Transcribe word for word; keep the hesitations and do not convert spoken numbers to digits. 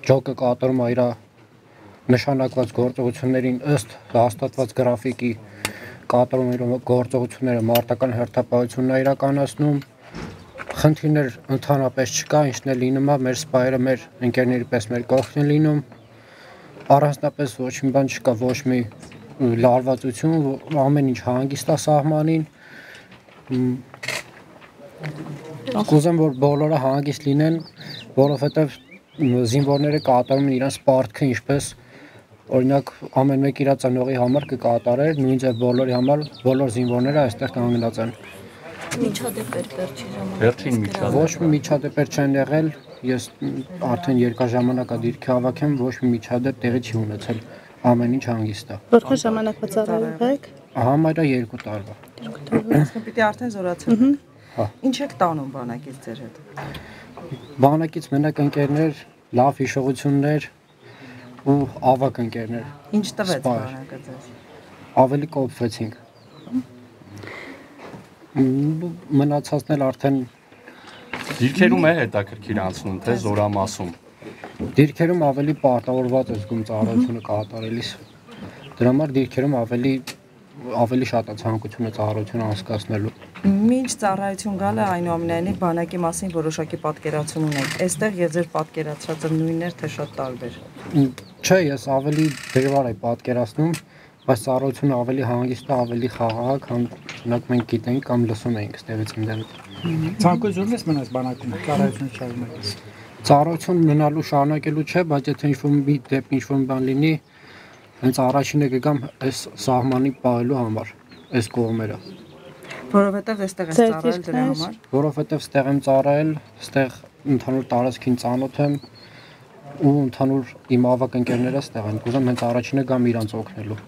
Ջոկը կատարում է իր նշանակված գործողություններին ըստ հաստատված գրաֆիկի կատարում իր գործողությունները մարտական հերթապահությունն է իրականացնում։ Խնդիրներ ընդհանրապես չկա, ինչն է լինում է, մեր սպայերը մեր ընկերների պես մեր կողքն են լինում։ Առանձնապես ոչ մի բան չկա, ոչ մի լարվածություն, ամեն ինչ հանգիստ է սահմանին։ Կուզեմ, որ բոլորը հանգիստ լինեն, որովհետև զինվորները կատարում են իրենց պարտքը, ինչպես օրինակ ամեն մեկ իր ծնողի համար կկատարեր, նույն ձև բոլորի համար բոլոր զինվորները այստեղ կանգնած են։ Միջադեպեր վերջին ժամանակ։ Վերջին միջադեպեր։ Ոչ մի միջադեպեր չեն եղել, ես արդեն երկար ժամանակ է դիրքի հավաքեմ, ոչ մի միջադեպ տեղի չի ունեցել, ամեն ինչ հանգիստ է։ Որքան ժամանակ ծառայում եք։ Համարյա երկու տարվա։ Պիտի արդեն զորացել։ Հա։ Ինչ եք տանում բանակից ձեր հետ։ Բանակից մենակ ընկերներ, լավ հիշողություններ ու ավակ ընկերներ։ Ինչ տվեց բանակը ձեզ։ Ավելի կոփվեցինք։ Մնացածն էլ արդեն Դիրքերում է հետաքրքիր անցնում, թե զորամասում։ Դիրքերում ավելի պարտավորված ես զգում ծառայությունը կատարելիս։ Դրա համար դիրքերում ավելի ավելի շատ է ցանկությունը ծառայությունը անցկացնելու։ Մինչ ծառայություն գալը այնուամենայնիվ բանակի մասին որոշակի պատկերացում ունեք։ Այստեղ եւ ձեր պատկերացածը նույնն էր, թե շատ տարբեր։ Չէ, ես ավելի դժվար եմ պատկերացնում, բայց ծառայությունը ավելի հանգիստ է, ավելի խաղաղ, քան օրինակ մենք գիտենք կամ լսում ենք ստեղից ընդդեմ։ Ցանկությունն ես մնաս բանակում, ծառայություն շարունակես։ Ծառայություն մնալու շարունակելու չէ, բայց եթե ինչ-որ մի դեպք ինչ-որ բան լինի, հենց առաջինը կգամ այս սահմանի պահելու համար, այս կողմերը։ Որովհետև այստեղ ես ծառայել դրա համար։ Որովհետև ստեղ եմ ծառայել, ստեղ ընդհանուր տարածքին ծանոթ եմ ու ընդհանուր իմ ավակ ընկերները ստեղ են։ Կուզեմ հենց առաջինը գամ իրանց օգնելու։